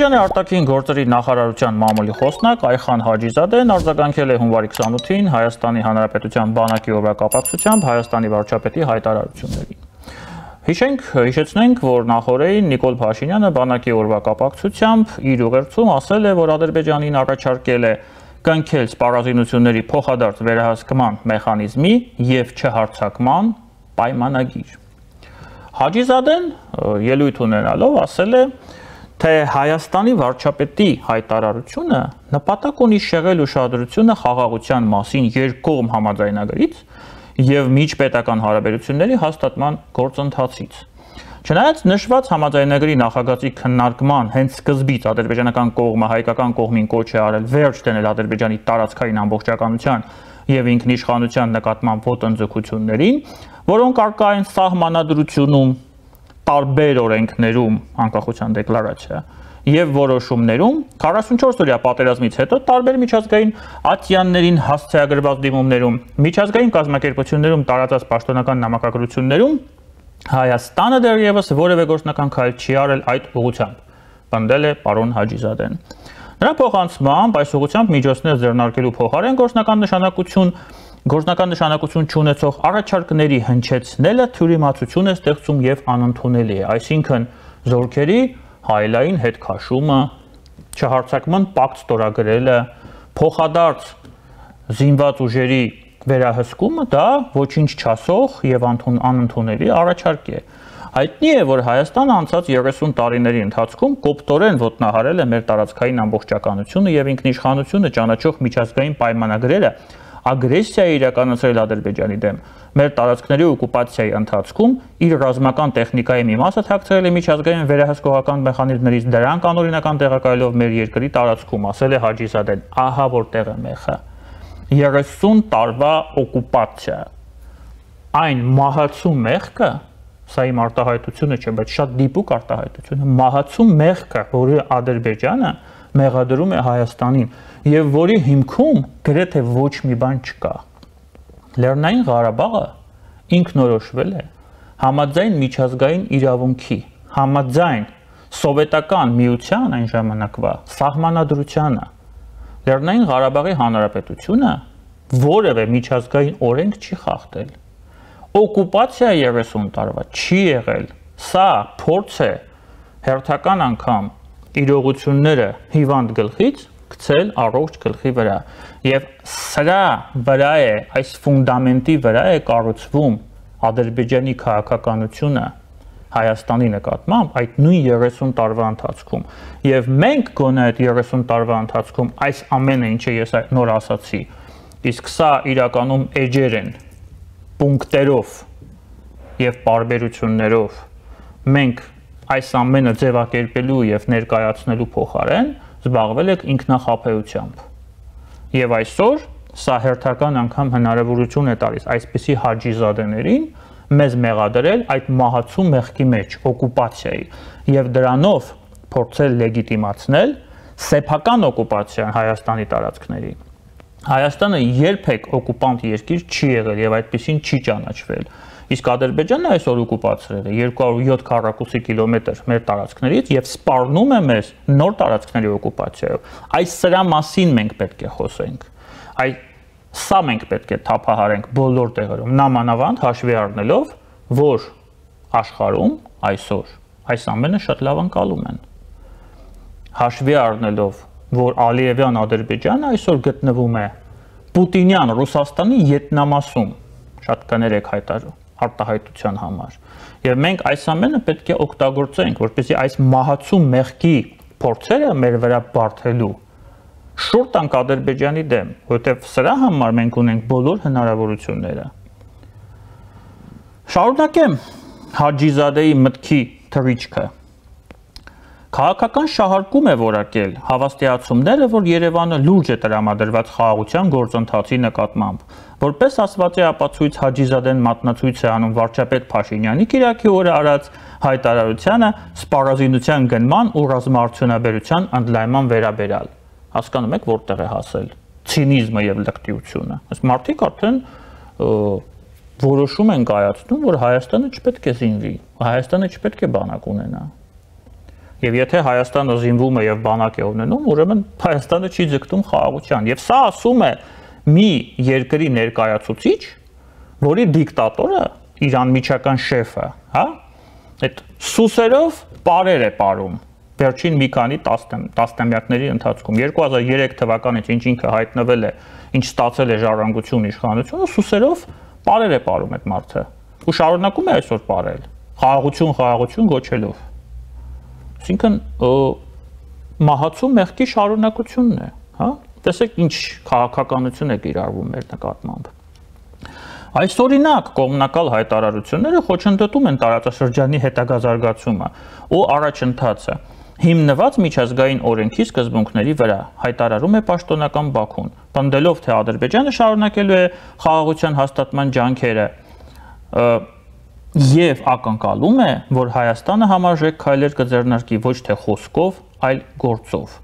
Ադրբեջանի արտաքին գործերի նախարարության մամուլի խոսնակ Այխան Հաջիզադեն արձագանքել է հունվարի 28-ին Հայաստանի Հանրապետության բանակի օրվա կապակցությամբ Հայաստանի վարչապետի հայտարարություններին։ Հիշեցնենք, որ նախորդին Նիկոլ Փաշինյանը բանակի օրվա կապակցությամբ իր ուղերձում ասել է, որ Ադրբեջանին առաջարկել է կնքել սպառազինությունների փոխադարձ վերահսկման մեխանիզմի և չհարձակման պայմանագիր։ Հաջիզադեն ելույթ ունենալով ասել է, թե Հայաստանի վարչապետի հայտարարությունը նպատակ ունի շեղել ուշադրությունը խաղաղության մասին երկկողմ համաձայնագրից և միջպետական հարաբերությունների հաստատման գործընթացից։ Չնայած նշված համաձայնագրի նախագծի քննարկման հենց սկզբից ադրբեջանական կողմը հայկական կողմին կոչ է արել վերջ դնել Ադրբեջանի տարածքային ամբողջականության և ինքնիշխանության նկատմամբ ոտնձգություններին, որոնք առկա են սահմանադրությունում, տարբեր օրենքներում, անկախության դեկլարացիա և որոշումներում 44-օրյա պատերազմից հետո տարբեր միջազգային ատյաններին հասցեագրված դիմումներում, միջազգային կազմակերպություններում տարածած պաշտոնական նամակագրություններում Հայաստանը դեռևս որևէ գործնական քայլ չի արել այդ ուղղությամբ, պնդել է պարոն Հաջիզադեն։ Նրա փոխանցմամբ այս ուղղությամբ միջոցներ ձեռնարկելու փոխարեն գործնական նշանակություն չունեցող առաջարկների հնչեցնելը թյուրիմացություն է ստեղծում և անընդունելի է, այսինքն զորքերի հայելային հետ քաշումը, չհարձակման պակտ ստորագրելը, փոխադարձ զինված ուժերի վերահսկումը դա ոչինչ չասող և անընդունելի առաջարկ է։ Հայտնի է, որ Հայաստանը անցած 30 տարիների ընթացքում կոպտորեն ոտնահարել է մեր տարածքային ամբողջականությունը և ինքնիշխանությունը ճանաչող միջազգային պայմանագրերը, ագրեսիա է իրականացրել Ադրբեջանի դեմ։ Մեր տարածքների օկուպացիայի ընթացքում իր ռազմական տեխնիկայի մի մասը թաքցրել է միջազգային վերահսկողական մեխանիզմներից, դրանք անօրինական տեղակայելով մեր երկրի տարածքում, ասել է Հաջիզադեն, ահա որտեղ է մեխը։ 30 տարվա օկուպացիա, այն մահացու մեղքը, սա իմ արտահայտությունը չէ, բայց շատ դիպուկ արտահայտություն է, մահացու մեղքը, որը Ադրբեջանը մեղադրում է Հայաստանին և որի հիմքում գրեթե ոչ մի բան չկա։ Լեռնային Ղարաբաղը ինքնորոշվել է համաձայն միջազգային իրավունքի, համաձայն սովետական միության այն ժամանակվա սահմանադրությանը։ Լեռնային Ղարաբաղի Հանրապետությունը որևէ միջազգային օրենք չի խախտել։ Օկուպացիա 30 տարվա չի եղել։ Սա փորձ է հերթական անգամ իրողությունները հիվանդ գլխից գցել առողջ գլխի վրա և սրա վրա է, այս ֆունդամենտի վրա է կառուցվում Ադրբեջանի քաղաքականությունը Հայաստանի նկատմամբ այդ նույն 30 տարվա ընթացքում և մենք գոնե այդ 30 տարվա ընթացքում այս ամենը, ինչը ես նոր ասացի, իսկ սա իրականում էջեր են, պունկտերով և պարբերություններով մենք այս ամենը ձևակերպելու և ներկայացնելու փոխարեն զբաղվել եք ինքնախաբեությամբ։ Եվ այսօր սա հերթական անգամ հնարավորություն է տալիս այսպիսի Հաջիզադեներին մեզ մեղադրել այդ մահացու մեղքի մեջ, օկուպացիայի, և դրանով փորձել լեգիտիմացնել սեփական օկուպացիան Հայաստանի տարածքների։ Հայաստանը երբեք օկուպանտ երկիր չի եղել և այդպիսին չի ճանաչվել։ Իսկ Ադրբեջանը այսօր օկուպացրել է 207 քառակուսի կիլոմետր մեր տարածքներից և սպառնում է մեզ նոր տարածքների օկուպացիայով։ Այս սրա մասին մենք պետք է խոսենք։ Սա մենք պետք է թափահարենք բոլոր տեղերում, նամանավանդ հաշվի առնելով, որ աշխարհում այսօր այս ամենը շատ լավ ընկալում են։ Հաշվի առնելով, որ Ալիևյան Ադրբեջանը այսօր գտնվում է Պուտինյան Ռուսաստանի ետնամասում, շատ կներեք արտահայտության համար, և մենք այս ամենը պետք է օգտագործենք, որպեսզի այս մահացու մեղքի փորձերը մեր վրա բարդելու շուռ տանք Ադրբեջանի դեմ, որովհետև սրա համար մենք ունենք բոլոր հնարավորությունները։ Շարունակեմ Հաջիզադեի մտքի թռիչքը։ Քաղաքական շահարկում է որակել հավաստիացումները, որ Երևանը լուրջ է տրամադրված խաղաղության գործընթացի նկատմամբ։ Որպես ասված է ապացույց Հաջիզադեն մատնացույց է անում վարչապետ Փաշինյանի կիրակի օրը արած հայտարարությանը սպառազինության գնման ու ռազմաարդյունաբերության ընդլայնման վերաբերյալ։ Հասկանում եք որտեղ է հասել ցինիզմը եւ լկտիությունը։ Այս մարդիկ արդեն որոշում են կայացնում, որ Հայաստանը չպետք է զինվի, Հայաստանը չպետք է բանակ ունենա։ Եվ եթե Հայաստանը զինվում է եւ բանակ է ունենում, ուրեմն Հայաստանը չի ձգտում խաղաղության։ Եվ սա ասում է մի երկրի ներկայացուցիչ, որի դիկտատորը, իր անմիջական շեֆը, հա, այդ սուսերով պարեր է ապարում վերջին մի քանի տասնամյակների ընթացքում 2003 թվականից ինչ ինքը հայտնվել է, ինչ ստացել է ժառանգություն իշխանությունը, սուսերով պարեր է ապարում այդ մարդը։ Ու շարունակում է այսօր պարել, խաղաղություն գոչելով։ Այսինքն մահացու մեղքի շարունակությունն է, հա։ Տեսեք ինչ քաղաքականություն է կիրառվում մեր նկատմամբ։ Այս օրինակ կողմնակալ հայտարարությունները խոչընդոտում են տարածաշրջանի հետագա զարգացումը ու առաջընթացը, հիմնված միջազգային օրենքի սկզբունքների վրա, հայտարարում է պաշտոնական Բաքուն, պնդելով, թե Ադրբեջանը շարունակելու է խաղաղության հաստատման ջանքերը եւ ակնկալում է, որ Հայաստանը համարժեք քայլեր կձեռնարկի ոչ թե խոսքով, այլ գործով։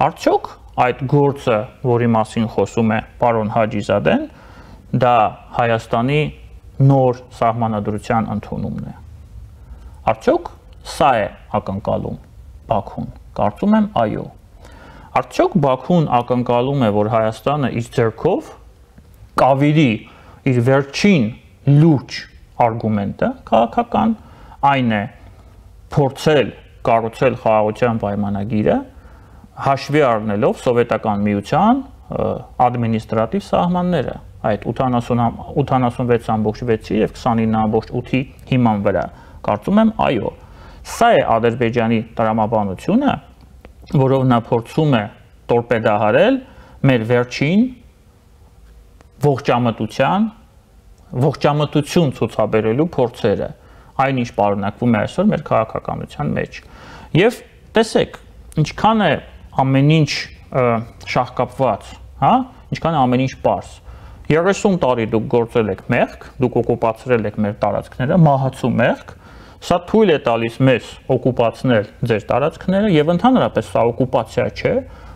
Արդյոք այդ գործը, որի մասին խոսում է պարոն Հաջիզադեն, դա Հայաստանի նոր սահմանադրության ընդունումն է։ Արդյոք սա է ակնկալում Բաքուն։ Կարծում եմ այո։ Արդյոք Բաքուն ակնկալում է, որ Հայաստանը իր ձեռքով կավիրի իր վերջին լուրջ արգումենտը քաղաքական, այն է փորձել կառուցել խաղաղության պայմանագիրը, հաշվի առնելով սովետական միության ադմինիստրատիվ սահմանները, այդ 86.6-ի եւ 29.8-ի հիման վրա։ Կարծում եմ այո։ Սա է Ադրբեջանի տրամաբանությունը, որով նա փորձում է տորպեդահարել մեր վերջին ողջամտություն ցուցաբերելու փորձերը, այնինչ պարունակվում է այսօր մեր քաղաքականության մեջ։ Եվ տեսեք, ինչքան է ամեն ինչ շահկապված, հա, ինչքան է ամեն ինչ պարզ։ 30 տարի դուք գործել եք մեղք, դուք օկուպացրել եք մեր տարածքները, մահացու մեղք, սա թույլ է տալիս մեզ օկուպացնել ձեր տարածքները եւ ընդհանրապես սա օկուպացիա չէ,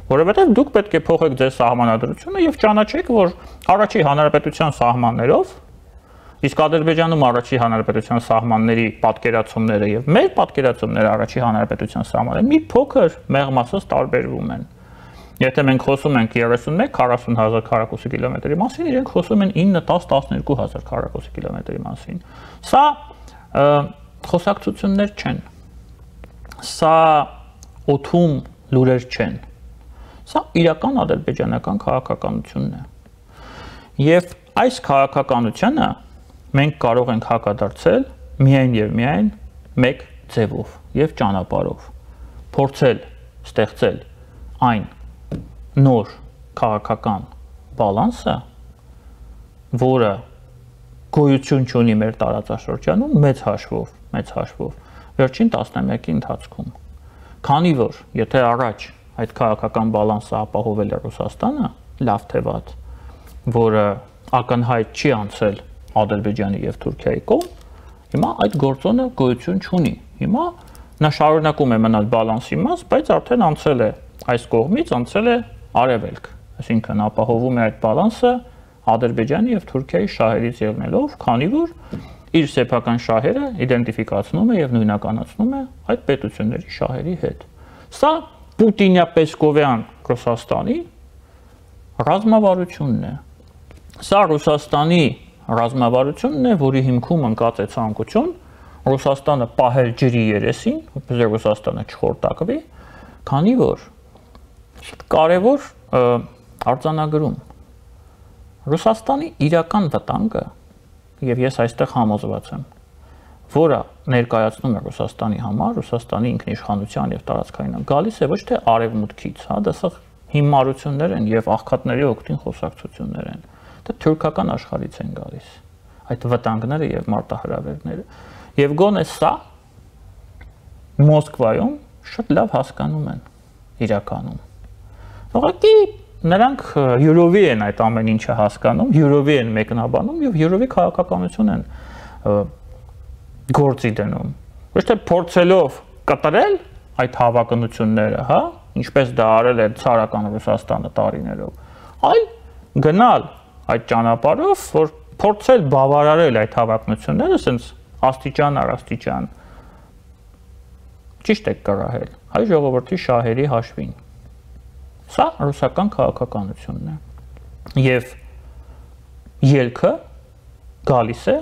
որովհետեւ դուք պետք է փոխեք ձեր սահմանադրությունը եւ ճանաչեք, որ առաջի հանրապետության սահմաններով, իսկ Ադրբեջանում առաջի հանրապետության սահմանների պատկերացումները եւ մեր պատկերացումները առաջի հանրապետության սահմանները մի փոքր մեղմասած տարբերվում են։ Եթե մենք խոսում ենք 31-40,000 քառակուսի կիլոմետրի մասին, իրենք խոսում են 9-10-12,000 քառակուսի կիլոմետրի մասին։ Սա խոսակցություններ չեն։ Սա օթում լուրեր չեն։ Սա իրական ադրբեջանական քաղաքականությունն է։ Եվ այս քաղաքականությանը մենք կարող ենք հակադարձել միայն եւ միայն մեկ ձևով եւ ճանապարհով։ Փորձել ստեղծել այն նոր քաղաքական բալանսը, որը գոյություն չունի մեր տարածաշրջանում մեծ հաշվով վերջին տասնամյակի ընթացքում։ Քանի որ եթե առաջ այդ քաղաքական բալանսը ապահովել է Ռուսաստանը, լավ թե վատ, որը ակնհայտ չի անցել Ադրբեջանի եւ Թուրքիայի կողմ, հիմա այդ գործոնը գոյություն չունի։ Հիմա նա շարունակում է մնալ բալանսի մաս, բայց արդեն անցել է այս կողմից, անցել է արևելք, այսինքն ապահովում է այդ բալանսը Ադրբեջանի եւ Թուրքիայի շահերից ելնելով, քանի որ իր սեփական շահերը իդենտիֆիկացնում է եւ նույնականացնում է այդ պետությունների շահերի հետ։ Սա պուտինյա-պեսկովյան Ռուսաստանի ռազմավարությունն է։ Սա Ռուսաստանի ռազմավարությունն է, որի հիմքում ընկած է ցանկություն Ռուսաստանը պահել ջրի երեսին, որպեսզի Ռուսաստանը չխորտակվի, քանի որ կարևոր արձանագրում Ռուսաստանի իրական վտանգը, եւ ես այստեղ համոզված եմ, որը ներկայացնում է Ռուսաստանի համար, Ռուսաստանի ինքնիշխանության եւ տարածքային գալիս է ոչ թե արևմուտքից, հա, դա սա հիմարություններ են եւ աղքատների օգտին խոսակցություններ են, դա թուրքական աշխարհից են գալիս, այդ վտանգները եւ մարտահրավերները, եւ գոնե սա Մոսկվայում շատ լավ հասկանում են իրականում։ Ուղղակի նրանք յուրովի են այդ ամեն ինչը հասկանում, յուրովի են մեկնաբանում եւ յուրովի քաղաքականություն են գործի դնում։ Ոչ թե փորձելով կտրել այդ հավակնությունները, հա, ինչպես դա արել է ցարական Ռուսաստանը տարիներով, այլ գնալ այդ ճանապարհով, որ փորձել բավարարել այդ հավակնությունները, ասենց աստիճան առ աստիճան, ճիշտ եք կռահել, հայ ժողովրդի շահերի հաշվին։ Սա ռուսական քաղաքականությունն է։ Եվ ելքը գալիս է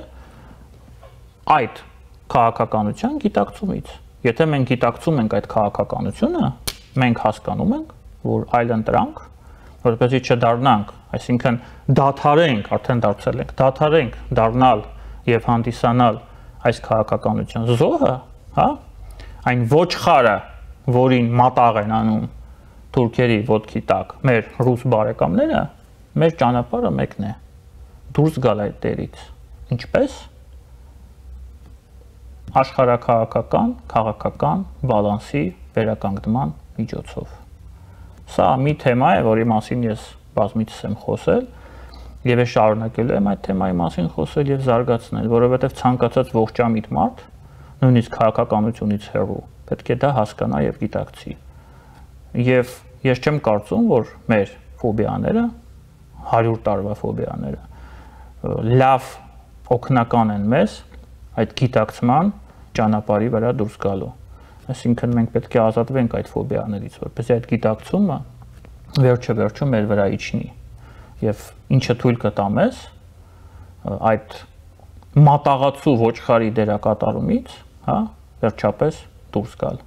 այդ քաղաքականության գիտակցումից։ Եթե մենք գիտակցում ենք այդ քաղաքականությունը, մենք հասկանում ենք, որ այլընտրանք, որպեսզի չդառնանք, այսինքն դադարենք, արդեն դարձել ենք, դադարենք դառնալ եւ հանդիսանալ այս քաղաքականության զոհը, հա, այն ոչխարը, որին մատաղ են անում թուրքերի ոտքի տակ մեր ռուս բարեկամները, մեր ճանապարհը մեկն է՝ դուրս գալ այդ դերից։ Ինչպես աշխարհակաղակական, քաղաքական բալանսի վերականգնման միջոցով։ Սա մի թեմա է, որի մասին ես բազմիցս եմ խոսել եւ ես շարունակելու եմ այդ թեմայի մասին խոսել եւ զարգացնել, որովհետեւ ցանկացած ողջամիտ մարդ, նույնիսկ քաղաքականությունից հեռու, պետք է դա հասկանա եւ գիտակցի։ Եվ ես չեմ կարծում, որ մեր ֆոբիաները, 100 տարվա ֆոբիաները, լավ օգնական են մեզ այդ գիտակցման ճանապարհի վրա դուրս գալու։ Այսինքն մենք պետք է ազատվենք այդ ֆոբիաներից, որպեսզի այդ գիտակցումը վերջը մեր վրա իջնի եւ ինչը թույլ կտա մեզ այդ մատաղացու ոչխարի դերակատարումից, հա, վերջապես դուրս գալ։